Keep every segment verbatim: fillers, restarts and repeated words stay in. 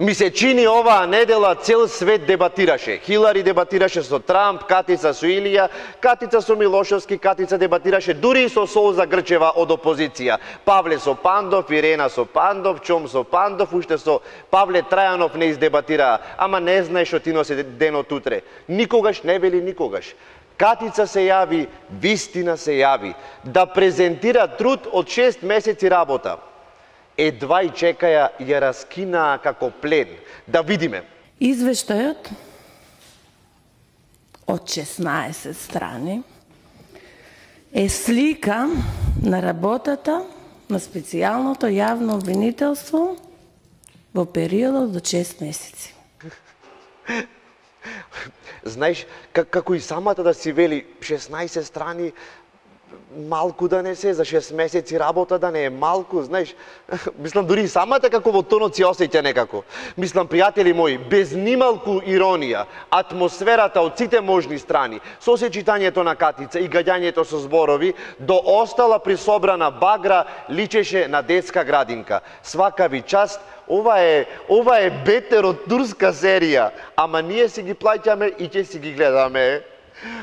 Ми се чини оваа недела цел свет дебатираше. Хилари дебатираше со Трамп, Катица со Илија, Катица со Милошевски, Катица дебатираше дури и со Солза Грчева од опозиција. Павле со Пандов, Ирена со Пандов, Чом со Пандов, уште со Павле Трајанов не издебатираа. Ама не знаеш што ти носи денот утре. Никогаш не вели никогаш. Катица се јави, вистина се јави, да презентира труд од шест месеци работа. Едва и чекаја ја раскинаа како плен. Да видиме. Извештајот од шеснаесет страни е слика на работата на специјалното јавно обвинителство во периодот до шест месеци. Знаеш, како и самата да си вели шеснаесет страни, малку да не се, за шест месеци работа да не е малку, знаеш. Мислам, дури и самата како во тонот си осеќа некако. Мислам, пријатели мои, без нималку иронија, атмосферата од сите можни страни, со сечитањето на Катица и гаѓањето со зборови, до остала присобрана багра личеше на детска градинка. Свака ви част, ова е, ова е бетер од турска серија, ама ние си ги плаќаме и ќе си ги гледаме.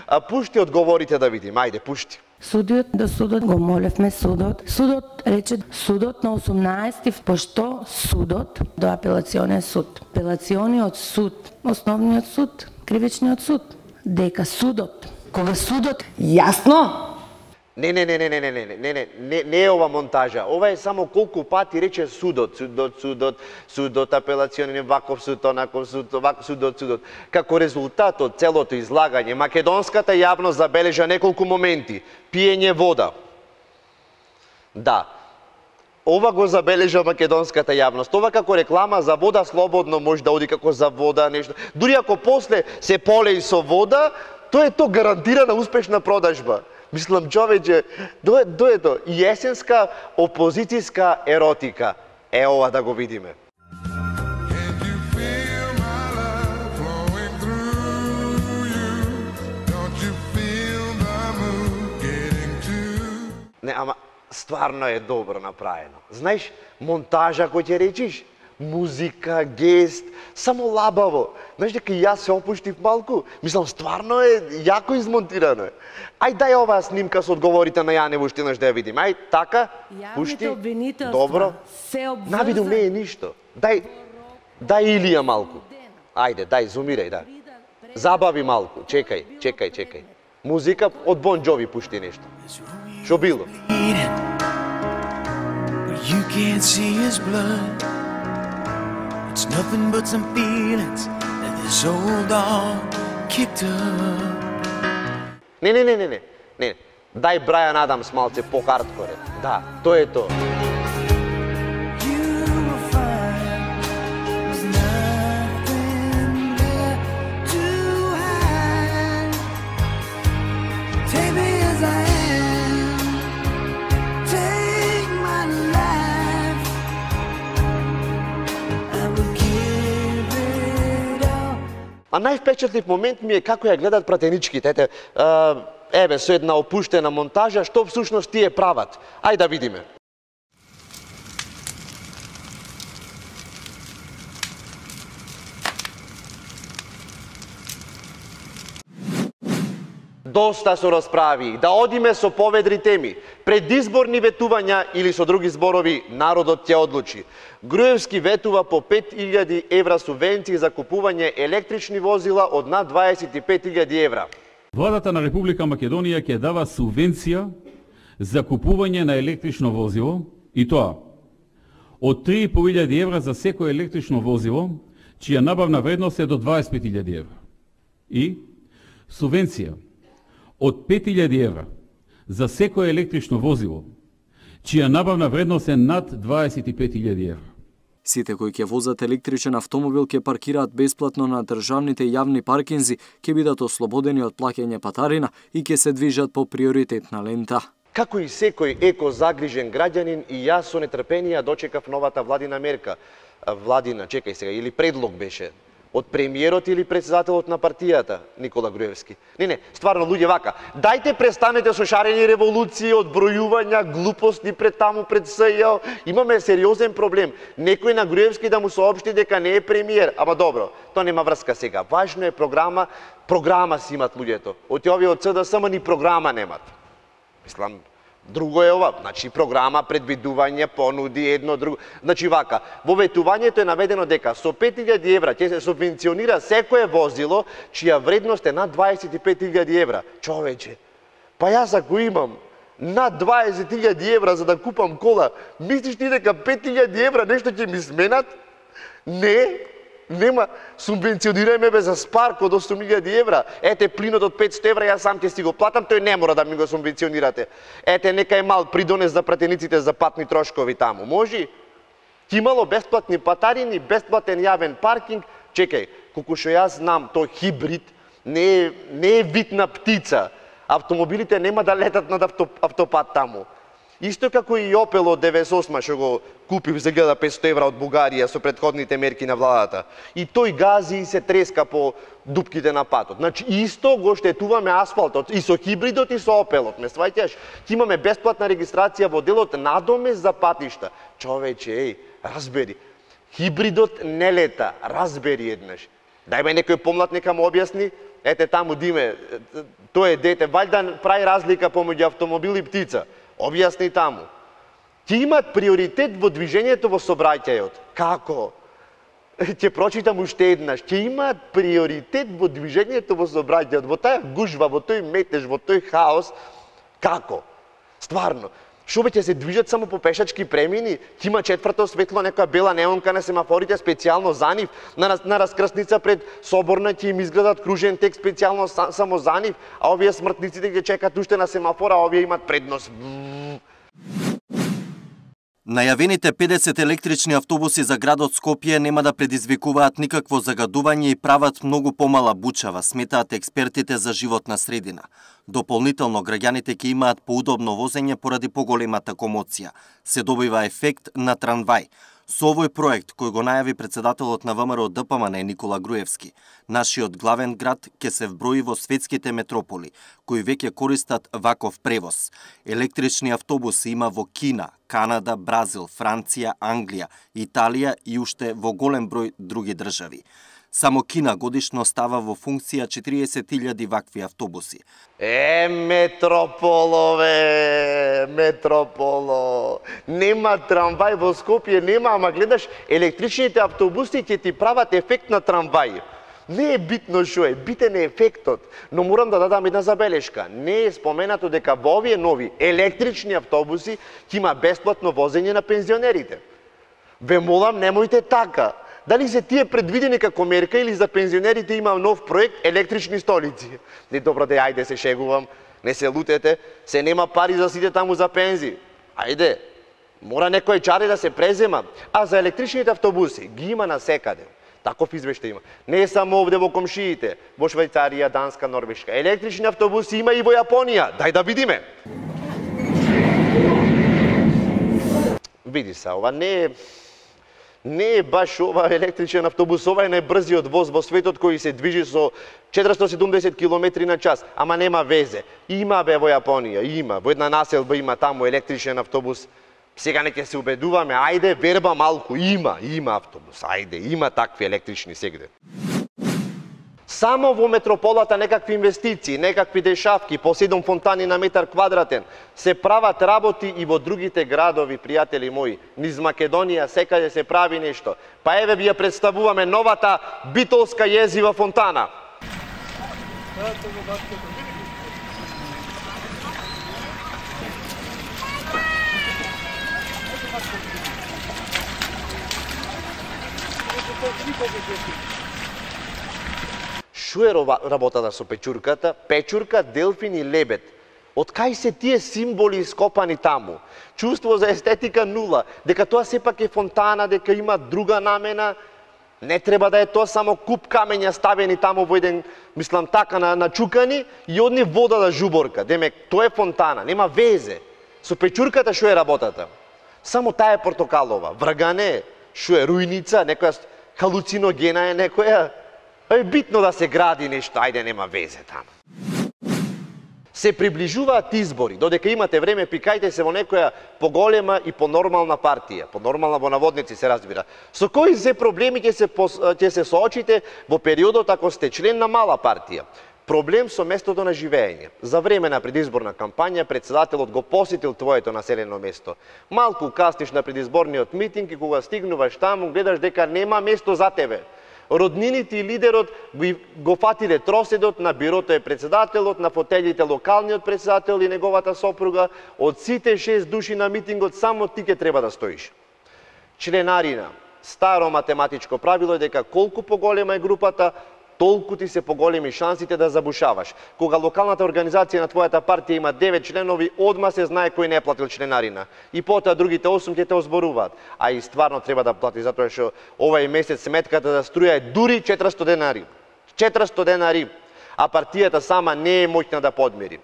А пушти одговорите да видим, ајде, пушти. Судиот до судот го молевме судот. Судот рече судот на осумнаесети, пошто судот до апелационен суд. Апелациониот суд, основниот суд, кривичниот суд, дека судот, кога судот јасно. Не, не, не, не, не, не, не, не, не, не, не е ова монтажа. Ова е само колку пати рече судот, судот, судот, судот, апелационен, ваков суд, онаков суд, ваков судот, судот. Како резултат од целото излагање, македонската јавност забележа неколку моменти. Пиење вода. Да. Ова го забележа македонската јавност. Ова како реклама за вода слободно може да оди како за вода, нешто. Дури ако после се полеи со вода, тоа е то гарантирана успешна продажба. Мислам, човече, до, до е то, јесенска опозицијска еротика. Е, ова да го видиме. Не, ама, стварно е добро направено. Знаеш, монтажа кој ќе речиш, музика, гест, само лабаво. Знаеш дека јас се опуштив малку? Мислам, стварно е јако измонтирано. Ај дај оваа снимка со одговорите на Јане Вуштинаш да ја видим. Ај, така, пушти. Добро. Навидум не е ништо. Дај, дај Илија малку. Ајде, дај, зумирај, да. Забави малку. Чекај, чекај, чекај. Музика од Бон Джови пушти нешто. Шо било? It's nothing but some feelings that this old dog kicked up. Не, не, не, не, не, не. Дај Брайан Адамс малце по-хардкоре. Да, тоа е тоа. А највпечатлив момент ми е како ја гледат пратеничките. Ете, еве, со една опуштена монтажа, што всушност тие прават. Ај да видиме. Доста со расправи, да одиме со поведри теми. Предизборни ветувања или со други зборови, народот ќе одлучи. Груевски ветува по пет илјади евра субвенции за купување електрични возила од над дваесет и пет илјади евра. Владата на Република Македонија ќе дава субвенција за купување на електрично возило, и тоа од три и по илјади евра за секој електрично возило, чија набавна вредност е до дваесет и пет илјади евра. И субвенција од пет илјади евра за секој електрично возило, чија набавна вредност е над дваесет и пет илјади евра. Сите кои ќе возат електричен автомобил ќе паркираат бесплатно на државните јавни паркинзи, ќе бидат ослободени од плаќање патарина и ќе се движат по приоритетна лента. Како и секој еко-загрижен граѓанин, и јас со нетрпение дочекав новата владина мерка. Владина, чекај сега, или предлог беше. Од премиерот или председателот на партијата, Никола Груевски. Не, не, стварно, луѓе, вака. Дајте престанете со шарени револуции, одбројувања, глупости пред таму, пред СЈО. Имаме сериозен проблем. Некој на Груевски да му соопшти дека не е премиер. Ама добро, тоа нема врска сега. Важно е програма, програма си имат луѓето. Оти овие од ЦДСМ ни програма немат. Мислам, друго е ова, значи програма, предвидување, понуди, едно, друго. Значи вака, во ветувањето е наведено дека со пет илјади евра ќе се субвенционира секое возило чија вредност е над дваесет и пет илјади евра. Човече, па јас ако имам над дваесет илјади евра за да купам кола, мислиш ти дека пет илјади евра нешто ќе ми сменат? Не, нема, субвенционирајме бе за спарк од осум илјади евра. Ете плинот од петсто евра, јас сам ќе си го платам, тој не мора да ми го субвенционирате. Ете некај мал придонес за пратениците за патни трошкови таму. Може? Ки имало бесплатни патарини, бесплатен јавен паркинг. Чекај, колку што јас знам, тој хибрид не е, не е вид на птица. Автомобилите нема да летат над авто, автопат таму. Исто како и Опел од деветдесет и осма што го купив за илјада и петсто евра од Бугарија со претходните мерки на владата. И тој гази и се треска по дупките на патот. Значи исто го штетуваме асфалтот и со хибридот и со Опелот. Ме сваќаш? Ќе имаме бесплатна регистрација во делот надомес за патишта. Човече, еј, разбери. Хибридот не лета, разбери еднаш. Дај ме некој помлад нека му објасни. Ете таму Диме, тој е дете, ваljda прави разлика помеѓу автомобил и птица. Објасни таму. Ќе имат приоритет во движењето во сообраќајот. Како? Ќе прочитам уште еднаш. Ќе имат приоритет во движењето во сообраќајот. Во таа гужва, во тој метеж, во тој хаос. Како? Стварно. Шо бе ќе се движат само по пешачки премини? Ќе има четврто светло, некоја бела неонка на семафорите специјално за нив, на, на раскрсница пред соборна ќе им изградат кружен тек специјално само за нив, а овие смртниците ќе чекат уште на семафора, а овие имат предност. Најавените педесет електрични автобуси за градот Скопје нема да предизвикуваат никакво загадување и прават многу помала бучава, сметаат експертите за животна средина. Дополнително, граѓаните ќе имаат поудобно возење поради поголемата комоција. Се добива ефект на трамвај. Со овој проект, кој го најави председателот на ВМРО Д П М Н Никола Груевски, нашиот главен град ќе се вброи во светските метрополи, кои веќе користат ваков превоз. Електрични автобуси има во Кина, Канада, Бразил, Франција, Англија, Италија и уште во голем број други држави. Само Кина годишно става во функција четириесет илјади вакви автобуси. Е, метрополове, метрополо. Нема трамвај во Скопје, нема, ама гледаш, електричните автобуси ќе ти прават ефект на трамвај. Не е битно што е, битен е ефектот, но морам да дадам една забелешка. Не е споменато дека во овие нови електрични автобуси ќе има бесплатно возење на пензионерите. Ве молам, немојте така. Дали се тие предвидени како мерка или за пензионерите има нов проект електрични столици? Не, добро, де, ајде се шегувам, не се лутете, се нема пари за сите таму за пензи. Ајде, мора некој чари да се презема. А за електричните автобуси ги има насекаде. Таков извештај има. Не само овде во комшиите, во Швајцарија, Данска, Норвешка. Електрични автобуси има и во Јапонија. Дај да видиме. Види се, ова не е Не е баш ова електричен автобус, ова е најбрзиот воз во светот кој се движи со четиристотини и седумдесет километри на час, ама нема везе. Има бе во Јапонија, има, во една населба има таму електричен автобус. Сега не ќе се убедуваме, ајде, верба малку, има, има автобус, ајде, има такви електрични сегде. Само во метрополата некакви инвестиции, некакви дешавки, по седум фонтани на метар квадратен, се прават работи и во другите градови, пријатели мои. Низ Македонија секаде се прави нешто. Па еве ви ја представуваме новата битолска језива фонтана. Шо е работата со печурката? Печурка, делфин и лебед. Од кај се тие символи ископани таму? Чувство за естетика нула. Дека тоа сепак е фонтана, дека има друга намена. Не треба да е тоа само куп камења ставени таму во еден, мислам така, на, начукани и од нив вода да жуборка. Демек, тоа е фонтана, нема везе. Со печурката шо е работата? Само таа е портокалова. Врагане, шо е рујница, некоја халуциногена е некоја. Е битно да се гради нешто, ајде нема везе таму. Се приближуваат избори, додека имате време, пикајте се во некоја поголема и понормална партија, понормална во наводници се разбира. Со кои се проблеми ќе се, ќе се соочите во периодот ако сте член на мала партија? Проблем со местото на живење. За време на предизборна кампања председателот го посетил твоето населено место. Малку касниш на предизборниот митинг и кога стигнуваш таму гледаш дека нема место за тебе. Роднините и лидерот го фатиле троседот, на бирото е председателот, на фотелите локалниот председател и неговата сопруга. Од сите шест души на митингот само ти ќе треба да стоиш. Членарина. Старо математичко правило е дека колку поголема е групата, толку ти се поголеми шансите да забушаваш. Кога локалната организација на твојата партија има девет членови, одма се знае кој не е платил членарина. И потоа другите осум ќе те озборуваат. А и стварно треба да плати, затоа што овај месец сметката за струја е дури четиристо денари. четиристо денари, а партијата сама не е моќна да подмири.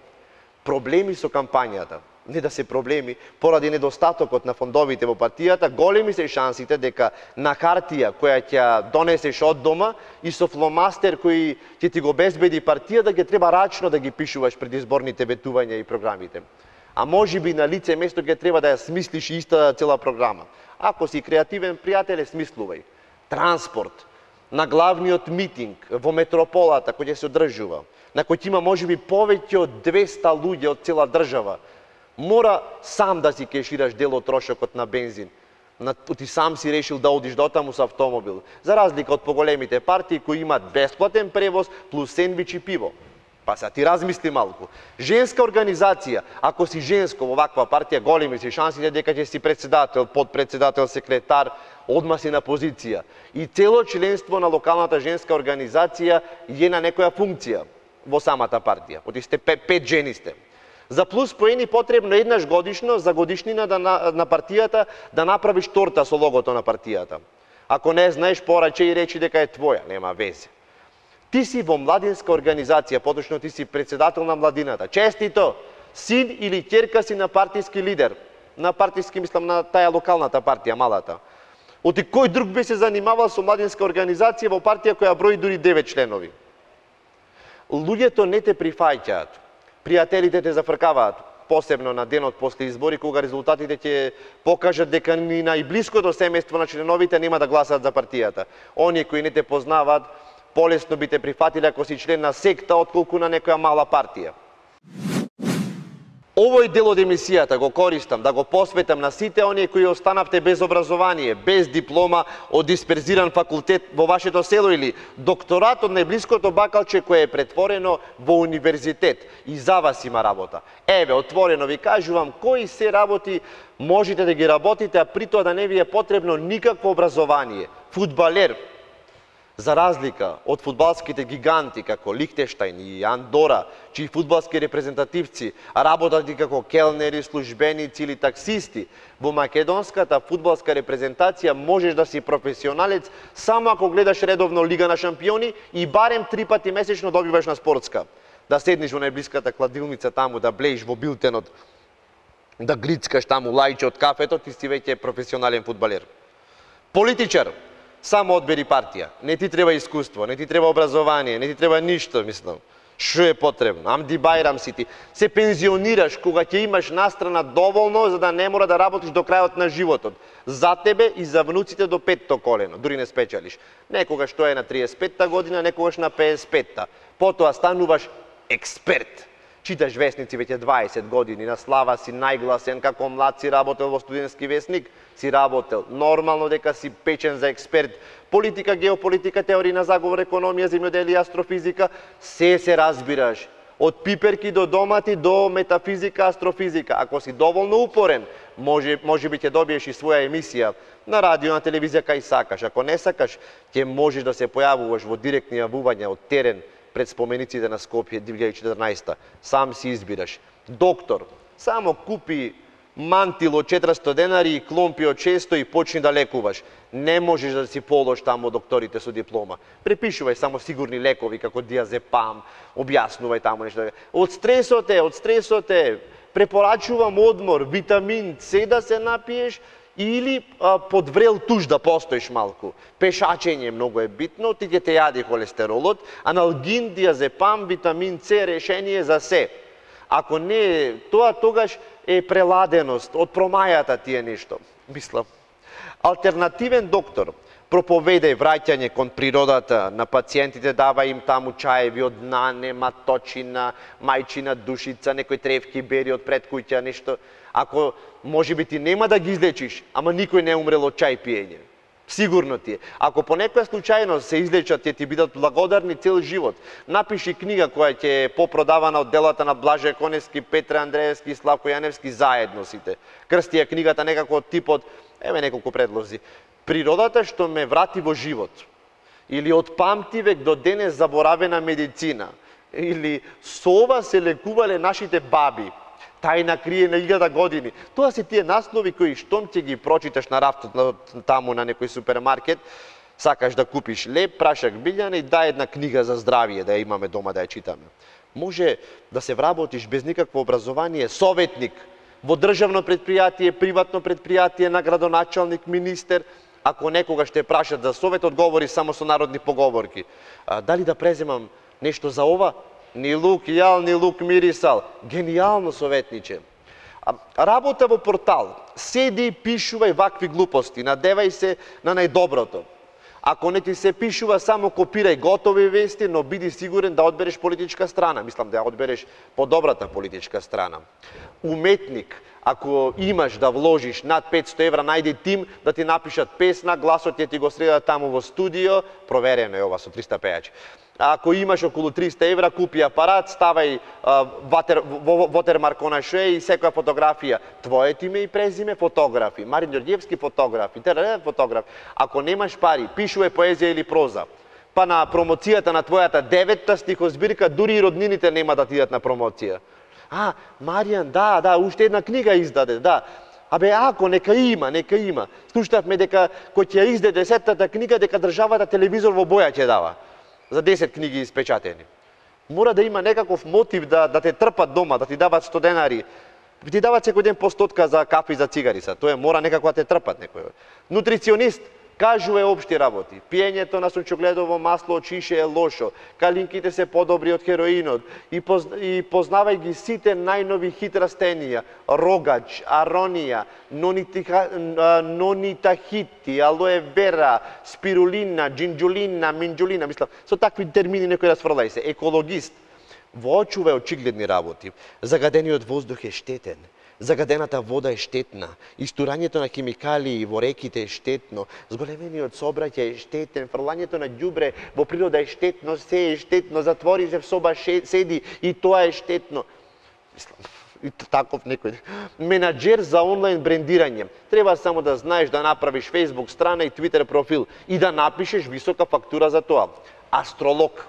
Проблеми со кампањата. Не да се проблеми, поради недостатокот на фондовите во партијата, големи се шансите дека на хартија која ќе донесеш од дома и со фломастер кој ќе ти го безбеди партијата, ќе треба рачно да ги пишуваш предизборните ветувања и програмите. А можеби на лице место ќе треба да ја смислиш иста цела програма. Ако си креативен пријателе, смислувај. Транспорт, на главниот митинг во метрополата кој ќе се одржува, на кој ќе има можеби повеќе од двеста луѓе од цела држава, мора сам да си кешираш дел од трошокот на бензин. Ти сам си решил да одиш дотаму со автомобил. За разлика од поголемите партии кои имат бесплатен превоз плюс сендвич и пиво. Па са ти размисли малку. Женска организација, ако си женско во ваква партија, големи си шансите дека ќе си председател, подпредседател, секретар, одма си на позиција. И цело членство на локалната женска организација е на некоја функција во самата партија. Оти сте пет, пет жени сте. За плюс поени потребно еднаш годишно за годишнина да на, на партијата да направиш торта со логото на партијата. Ако не знаеш, пораче и речи дека е твоја, нема везе. Ти си во младинска организација, поточно ти си председател на младината. Честито, син или ќерка си на партиски лидер, на партиски, мислам, на таа локалната партија, малата. Оти кој друг би се занимавал со младинска организација во партија која брои дури девет членови? Луѓето не те прифаќаат. Пријателите те зафркаваат, посебно на денот после избори, кога резултатите ќе покажат дека ни најблиското семејство на членовите нема да гласат за партијата. Оние кои не те познаваат, полесно би те прифатиле ако си член на секта, отколку на некоја мала партија. Овој дел од емисијата го користам да го посветам на сите оние кои останавте без образование, без диплома од дисперзиран факултет во вашето село или докторат од најблиското бакалче кое е претворено во универзитет. И за вас има работа. Еве, отворено ви кажувам кои се работи можете да ги работите, а при тоа да не ви е потребно никакво образование. Фудбалер, за разлика од фудбалските гиганти како Лихтенштајн и Андора, чии фудбалски репрезентативци работат и како келнери, службеници или таксисти, во македонската фудбалска репрезентација можеш да си професионалец само ако гледаш редовно Лига на шампиони и барем три пати месечно добиваш на спортска. Да седнеш во најблиската кладилница таму, да блеиш во билтенот, да глицкаш таму лајче од кафето, ти си веќе професионален фудбалер. Политичар, само одбери партија. Не ти треба искуство, не ти треба образование, не ти треба ништо, мислам. Што е потребно? Амди Бајрам си ти. Се пензионираш кога ќе имаш настрана доволно за да не мора да работиш до крајот на животот. За тебе и за внуците до петто колено, дури не спечелиш. Некогаш тоа е на триесет и петта година, некогаш на педесет и петта. Потоа стануваш експерт. Читаш весници веќе дваесет години, на слава си најгласен, како млад си работел во студентски весник, си работел. Нормално дека си печен за експерт. Политика, геополитика, теорија на заговор, економија, земјоделие, астрофизика, се се разбираш. Од пиперки до домати, до метафизика, астрофизика. Ако си доволно упорен, може, може би ќе добиеш и своја емисија на радио, на телевизија, кај сакаш. Ако не сакаш, ќе можеш да се појавуваш во директни јавувања од терен пред спомениците на Скопје две илјади и четрнаесетта. Сам си избираш. Доктор, само купи мантил од четиристо денари и кломпи од шесто и почни да лекуваш. Не можеш да си полош таму докторите со диплома. Препишувај само сигурни лекови како диазепам, објаснувај таму нешто. Од стресот е, од стресот е, препорачувам одмор, витамин С да се напиеш Или а, под врел туш да постоиш малку. Пешачење многу е битно, ти ќе те јади холестеролот, аналгин, диазепам, витамин С, решение за се. Ако не е тоа, тогаш е преладеност, од промајата ти е нешто. Мислам. Алтернативен доктор проповедај враќање кон природата на пациентите, дава им таму чаеви од нане, маточина, мајчина душица, некои тревки бери од пред куќа, нешто. Ако може би ти нема да ги излечиш, ама никој не умрел од чај пиење. Сигурно ти е. Ако по некоја случајност се излечат, ќе ти бидат благодарни цел живот. Напиши книга која ќе е попродавана од делата на Блаже Коневски, Петре Андреевски и Славко Јаневски заедно сите. Крсти ја книгата некако од типот, еве неколку предлози. Природата што ме врати во живот. Или од памтивек до денес заборавена медицина. Или со ова се лекувале нашите баби. Тајна крие на илјада години. Тоа се тие наслови кои штом ќе ги прочиташ на рафтот таму на некој супермаркет, сакаш да купиш леп, прашак билјана и дај една книга за здравие да ја имаме дома да ја читаме. Може да се вработиш без никакво образование, советник во државно предпријатие, приватно предпријатие, на градоначалник, министер. Ако некогаш те прашат за совет, одговори само со народни поговорки. А, дали да преземам нешто за ова? Ни лук јал, ни лук мирисал. Генијално советниче. А, работа во портал. Седи и пишувај вакви глупости. Надевај се на најдоброто. Ако не ти се пишува, само копирај готови вести, но биди сигурен да одбереш политичка страна. Мислам да ја одбереш подобрата политичка страна. Уметник. Ако имаш да вложиш над петсто евра, најди тим да ти напишат песна, гласот ќе ти го средат таму во студио, проверено е ова со триста пејачи. Ако имаш околу триста евра, купи апарат, ставај ватер, вотермарк ше и секоја фотографија. Твоето име и презиме, фотографи. Марин Ѓорѓевски фотографи, Терен фотограф. Ако немаш пари, пишувај поезија или проза. Па на промоцијата на твојата деветта стихозбирка, дури и роднините нема да ти идат на промоција. А, Маријан, да, да, уште една книга издаде, да. Абе, ако, нека има, нека има. Слушнавме дека кој ќе издаде десеттата книга, дека државата телевизор во боја ќе дава. За десет книги испечатени. Мора да има некаков мотив да, да те трпат дома, да ти дават сто денари. Ти дават секој ден по стотка за кафе и за цигари са. Тоа мора некако да те трпат некој. Нутриционист кажува општи работи. Пиењето на сончогледово масло од шише е лошо. Калинките се подобри од хероинот. И, поз, и познавај ги сите најнови хит растенија. Рогач, аронија, нонитахити, алоe вера, спирулина, джинджулина, минджулина. Мислам, со такви термини некој расфрлај се. Екологист. Воочувај очигледни работи. Загадениот воздух е штетен. Загадената вода е штетна, истурањето на химикалии во реките е штетно, зголемениот сообраќај е штетен, фрлањето на ѓубре во природа е штетно, се е штетно, затвори се в соба, седи и тоа е штетно. Мислам, и таков некој. Менаџер за онлайн брендирање. Треба само да знаеш да направиш Facebook страна и Twitter профил и да напишеш висока фактура за тоа. Астролог.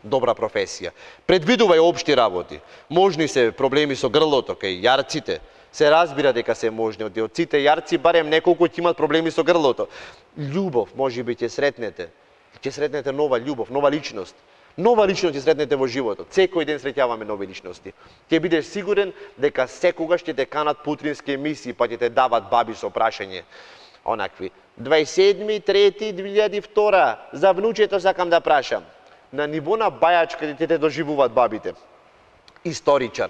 Добра професија. Предвидувај општи работи. Можни се проблеми со грлото, кај јарците. Се разбира дека се можни. Од сите јарци барем неколку ќе имат проблеми со грлото. Љубов, може би ќе сретнете. Ќе сретнете нова љубов, нова личност. Нова личност ќе сретнете во животот. Секој ден среќаваме нови личности. Ќе бидеш сигурен дека секогаш ќе те канат по утрински емисии, па ќе те дават баби со прашање. Онакви. дваесет седми трети две илјади и втора. За внучето сакам да прашам. На ниво на бајачка ќе те доживуваат бабите. Историчар.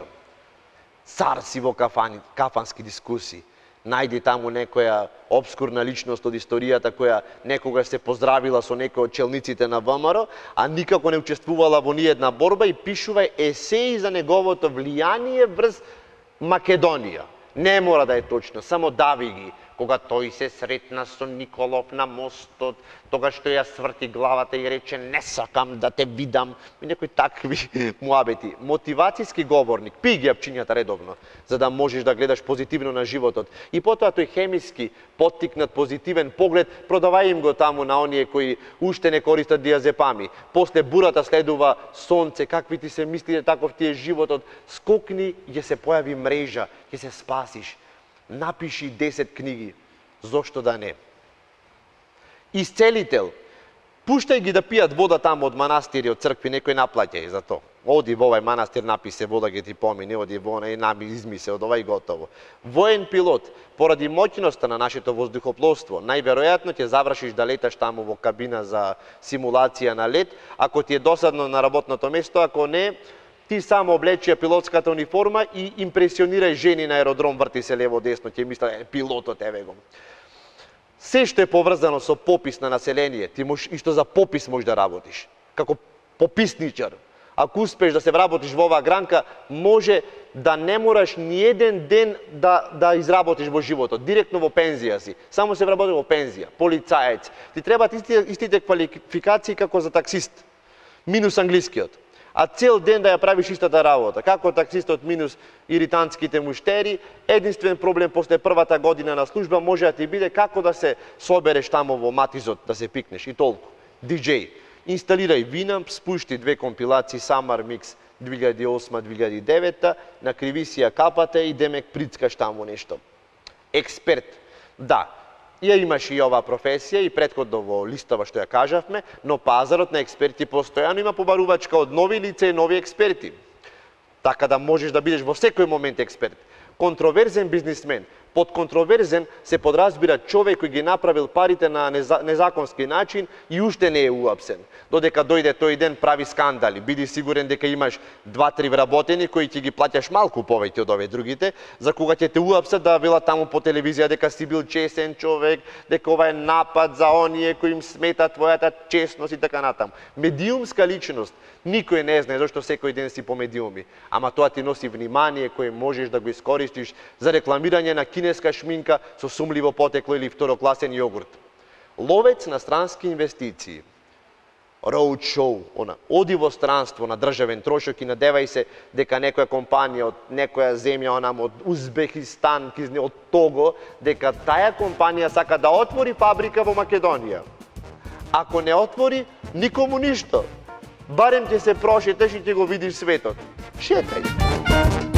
Цар си во кафани, кафански дискусии. Најди таму некоја обскурна личност од историјата која некогаш се поздравила со некој од челниците на ВМРО, а никако не учествувала во ниедна борба и пишува есеи за неговото влијание врз Македонија. Не мора да е точно, само дави ги. Кога тој се сретна со Николов на мостот, тогаш тој ја сврти главата и рече не сакам да те видам. И некои такви муабети. Мотивацијски говорник, пи ги апчињата редовно, за да можеш да гледаш позитивно на животот. И потоа тој хемиски, поттикнат позитивен поглед, продавај им го таму на оние кои уште не користат диазепами. После бурата следува сонце, какви ти се мислите, таков ти е животот. Скокни, ќе се појави мрежа, ќе се спасиш. Напиши десет книги. Зошто да не? Исцелител. Пуштај ги да пијат вода таму од манастири, од цркви, некој наплаќај за то. Оди во овај манастир, напи се вода, ги ти помине, оди во онај, нами изми се од ова и готово. Воен пилот, поради моќноста на нашето воздухопловство, најверојатно ќе завршиш да леташ таму во кабина за симулација на лет, ако ти е досадно на работното место, ако не, ти само облечи пилотската униформа и импресионирај жени на аеродром, врти се лево-десно, ќе мислат, е, пилотот еве го. Се што е поврзано со попис на население, ти можеш и што за попис можеш да работиш, како пописничар. Ако успеш да се вработиш во оваа гранка, може да не мораш ни еден ден да, да изработиш во животот, директно во пензија си. Само се вработиш во пензија, полицаец. Ти требаат истите, истите квалификации како за таксист, минус англискиот. А цел ден да ја правиш истата работа. Како таксистот минус иритантските муштери, единствен проблем после првата година на служба може да ти биде како да се собереш тамо во матизот, да се пикнеш и толку. диџеј. Инсталирај Winamp, спушти две компилации Summer Mix две илјади и осма - две илјади и девета, накриви си ја капата и демек прицкаш таму нешто. Експерт. Да, ја имаш и оваа професија и претходно во листава што ја кажавме, но пазарот на експерти постојано има побарувачка од нови лица и нови експерти. Така да можеш да бидеш во секој момент експерт. Контроверзен бизнисмен. Под контроверзен се подразбира човек кој ги направил парите на незаконски начин и уште не е уапсен. Додека дојде тој ден прави скандали. Биди сигурен дека имаш два-три вработени кои ќе ги плаќаш малку повеќе од овие другите, за кога ќе те уапсат да велат таму по телевизија дека си бил честен човек, дека ова е напад за оние кои им смета твојата честност и така натаму. Медиумска личност. Никој не знае зашто секој ден си по медиуми, ама тоа ти носи внимание кое можеш да го искористиш за рекламирање на кинеска шминка со сумливо потекло или второкласен јогурт. Ловец на странски инвестиции. Road show, она, оди во странство на државен трошок и надевај се дека некоја компанија од некоја земја, онам од Узбекистан, од Того, дека таа компанија сака да отвори фабрика во Македонија. Ако не отвори, никому ништо. Барем ќе се прошеташ и ќе го видиш светот. Шетај.